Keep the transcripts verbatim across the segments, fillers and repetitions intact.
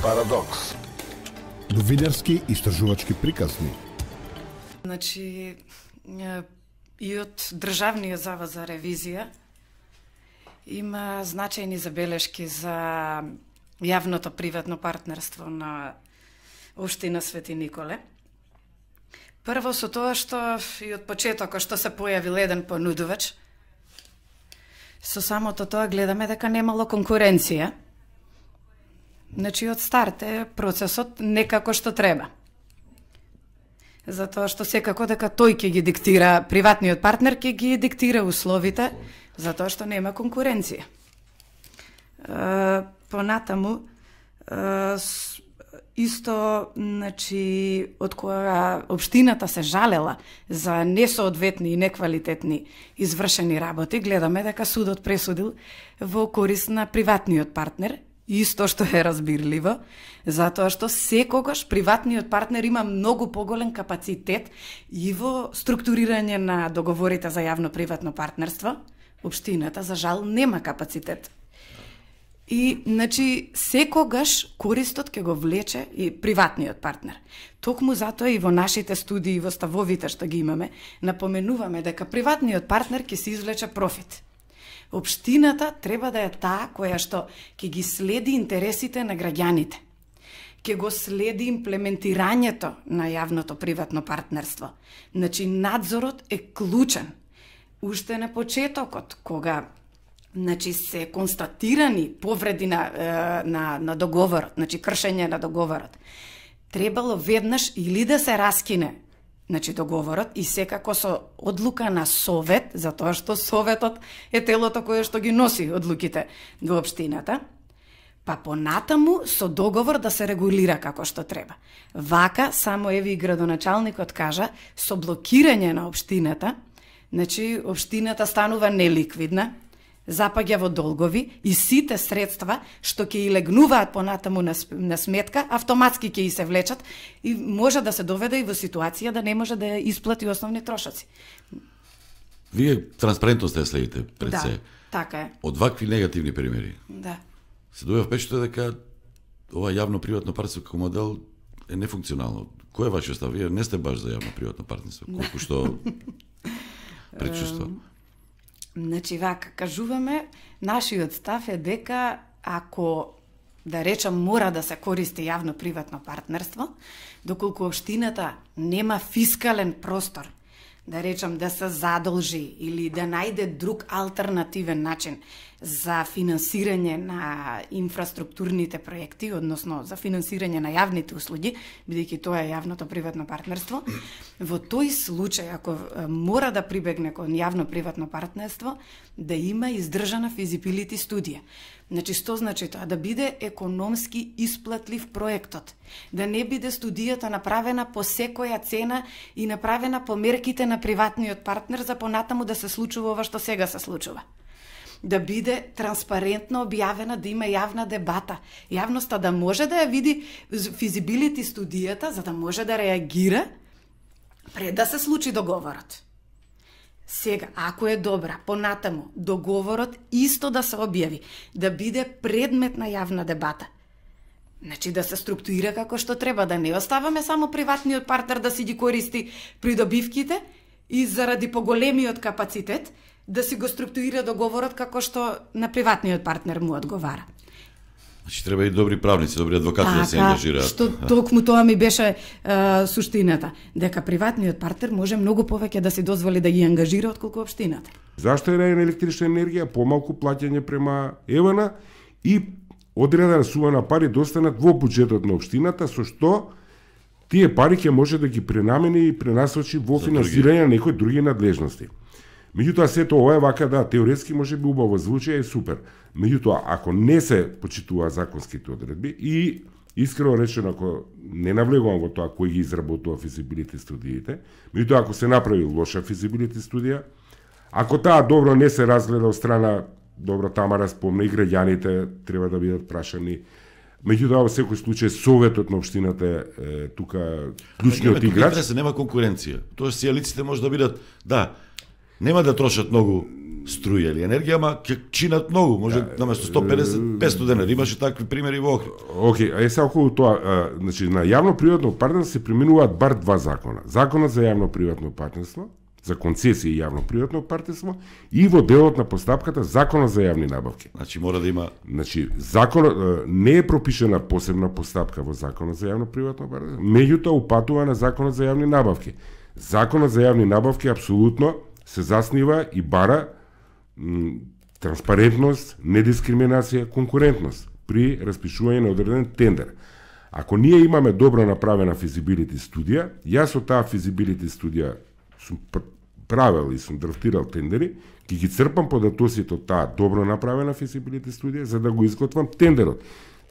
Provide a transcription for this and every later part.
Парадокс. Новинарски истражувачки приказни. Значи, и од Државниот завод за ревизија има значајни забелешки за јавното приватно партнерство на Општина Свети Николе. Прво со тоа што и од почетокот што се појавил еден понудувач, со самото тоа гледаме дека немало конкуренција. Значи, од старт е процесот некако што треба. Затоа што секако дека тој ќе ги диктира, приватниот партнер ќе ги диктира условите, затоа што нема конкуренција. Понатаму, исто, значи, од кога Општината се жалела за несоодветни и неквалитетни извршени работи, гледаме дека судот пресудил во корист на приватниот партнер, исто што е разбирливо, затоа што секогаш приватниот партнер има многу поголем капацитет и во структурирање на договорите за јавно-приватно партнерство. Општината, за жал, нема капацитет. И, значи, секогаш користот ќе го влече и приватниот партнер. Токму затоа и во нашите студии, во ставовите што ги имаме, напоменуваме дека приватниот партнер ќе се извлече профит. Општината треба да е таа која што ќе ги следи интересите на граѓаните, ќе го следи имплементирањето на јавното приватно партнерство. Значи, надзорот е клучен. Уште на почетокот, кога значи, се констатирани повреди на, на, на договорот, значи кршење на договорот, требало веднаш или да се раскине значи договорот и секако со одлука на совет, затоа што советот е телото кое што ги носи одлуките во општината, па понатаму со договор да се регулира како што треба. Вака, само еви и градоначалникот кажа, со блокирање на општината, значи општината станува неликвидна, запаѓа во долгови и сите средства што ќе и легнуваат понатаму на, на сметка, автоматски ќе и се влечат и може да се доведе и во ситуација да не може да исплати основни трошоци. Вие транспарентност ја следите пред да, се. Така е. Од вакви негативни примери. Да. Се добива впечаток дека ова јавно-приватно партнерство како модел е нефункционално. Кој е вашиот став? Вие не сте баш за јавно-приватно партнерство, колку што предчувство. Значи, вака, кажуваме, нашиот став е дека ако, да речам, мора да се користи јавно-приватно партнерство, доколку општината нема фискален простор, да речам, да се задолжи или да најде друг алтернативен начин за финансирање на инфраструктурните проекти, односно за финансирање на јавните услуги, бидејќи тоа е јавното приватно партнерство, во тој случај, ако мора да прибегне кон јавно-приватно партнерство, да има издржана физибилити студија. Значи, што значи тоа? Да биде економски исплатлив проектот. Да не биде студијата направена по секоја цена и направена по мерките на приватниот партнер за понатаму да се случува ова што сега се случува. Да биде транспарентно објавена, да има јавна дебата. Јавноста да може да ја види физибилити студијата, за да може да реагира пред да се случи договорот. Сега, ако е добра, понатаму, договорот исто да се објави, да биде предмет на јавна дебата. Значи да се структурира како што треба, да не оставаме само приватниот партнер да си ги користи придобивките и заради поголемиот капацитет да си го структурира договорот како што на приватниот партнер му одговара. Значи треба и добри правници, добри адвокати така, да се ангажираат. Што токму тоа ми беше е, суштината, дека приватниот партнер може многу повеќе да си дозволи да ги ангажира отколку општината. Зашто е на електрична енергија, помалку плаќање према ЕВН и одредена сума на пари достанат во буџетот на општината, со што тие пари ќе може да ги пренамени и пренасочи во финансирање на некои други надлежности. Меѓутоа, сето ова е вака, да, теоретски може би убаво звучи и супер. Меѓутоа, ако не се почитува законските одредби и искрено речено, ако не навлегувам во тоа кој ги изработува физибилити студиите, меѓутоа, ако се направи лоша физибилити студија, ако таа добро не се разгледа од страна, добро Тамара спомна, и граѓаните треба да бидат прашани. Меѓутоа, во секој случај, советот на општината е тука клучниот играч. Се нема конкуренција. Тоа сијалиците може да бидат, да, нема да трошат многу струја или енергија, ама ќе чинат многу, може наместо сто педесет петсто денари. Имаше такви примери во Охрид. Океј, а е сега околу тоа, а, значи на јавно-приватно партнерство се применуваат бар два закона. Законот за јавно-приватно партнерство, за концесија и јавно-приватно партнерство, и во делот на постапката Законот за јавни набавки. Значи мора да има Значи, законот не е пропишена посебна постапка во Законот за јавно-приватно партнерство, меѓутоа упатува на Законот за јавни набавки. Законот за јавни набавки апсолутно се заснива и бара м, транспарентност, недискриминација, конкурентност при распишување на одреден тендер. Ако ние имаме добро направена физибилити студија, јас од таа физибилити студија сум правел и сум драфтирал тендери, ќе ги црпам податоците од таа добро направена физибилити студија за да го изготвам тендерот.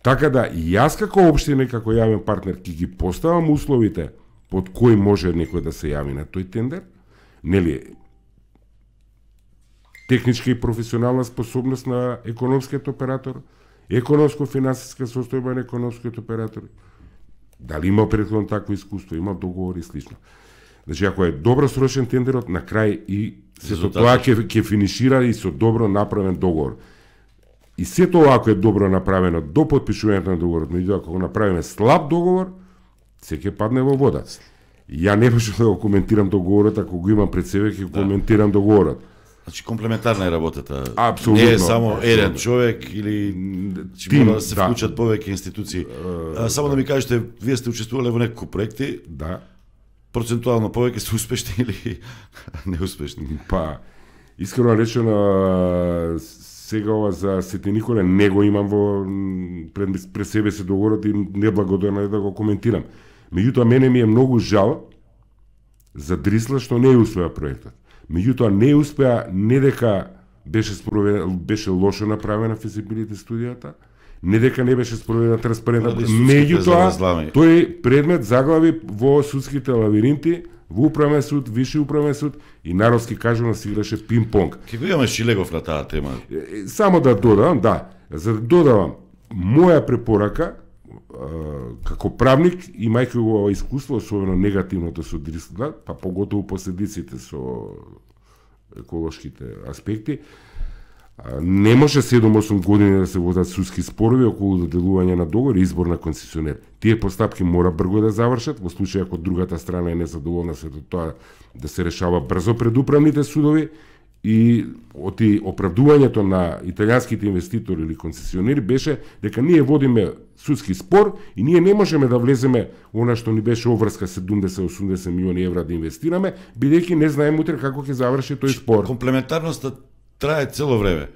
Така да и јас како општина и како јавен партнер ќе ги поставам условите под кои може некој да се јави на тој тендер, нели, техничка и професионална способност на економскиот оператор, економско-финансиска состојба на економскиот оператор, дали има претходно такво искуство, има договори и слично. Значи, ако е добро срочен тендерот, на крај и сето тоа ќе ќе финишира и со добро направен договор. И се тоа ако е добро направено до потпишувањето на договорот, меѓутоа ако го направиме слаб договор, се ќе падне во вода. Ја не можам да го коментирам договорот, ако го имам пред себе, ќе да. коментирам договорот. Значи комплементарна е работата. Апсолутно. Не е само апсолутно. еден човек или че мора да се да. вклучат повеќе институции. А, само да ми кажете, вие сте учествувале во неколку проекти. Да. Процентуално повеќе се успешни или неуспешни? Па, искрено речено, сега ова за Свети Николе не го имам во пред, пред себе се договорот и неблагодарно е да го коментирам. Меѓутоа, мене ми е многу жал за Дрисла што не успеа проектот. Меѓутоа, не успеа не дека беше спроведена, беше лошо направена физибилити студијата, не дека не беше спроведена транспарентна, меѓутоа тој предмет заглави во судските лавиринти, во управен суд, виши управен суд и народски кажано се играше пинг-понг. Ке го имаме Шилегов на таа тема. Само да додавам, да, за да додавам моја препорака како правник, имајќи го искуство, особено негативното со Дрисла, па поготово последиците со еколошките аспекти, не може седум-осум години да се водат судски спорови околу доделување на договор и избор на концесионер. Тие постапки мора брзо да завршат, во случај ако другата страна е незадоволна со тоа да се решава брзо пред управните судови, и оти оправдувањето на италијанските инвеститори или концесионери беше дека ние водиме судски спор и ние не можеме да влеземе она што ни беше обврска седумдесет до осумдесет милиони евра да инвестираме, бидејќи не знаеме утре како ќе заврши тој спор. Комплементарноста трае цело време.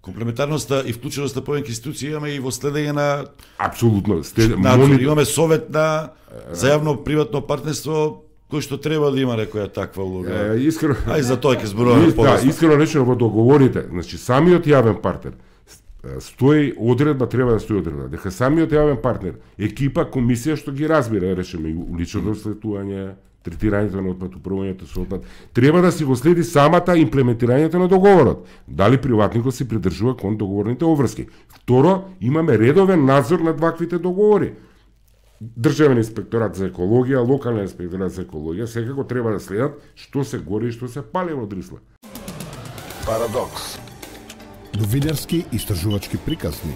Комплементарноста и вклученоста повеќе институции имаме и во следење на апсолутно Стед... надзор. Имаме совет на за јавно приватно партнерство кој што треба да има некоја таква улога. Е, искрено, ај за тоа ќе зборуваме подоцна. Да, искрено речено во договорите, значи самиот јавен партнер стои одредба, треба да стои одредба, дека самиот јавен партнер, екипа, комисија што ги разбира, речеме, лично следување, третирањето на отпад, управувањето со отпад, треба да си го следи самата имплементирањето на договорот. Дали приватникот се придржува кон договорните обврски. Второ, имаме редовен надзор над ваквите договори. Државен инспекторат за екологија, локален инспекторат за екологија, секако треба да следат што се гори и што се пали во Дрисла. Парадокс. Новинарски истражувачки приказни.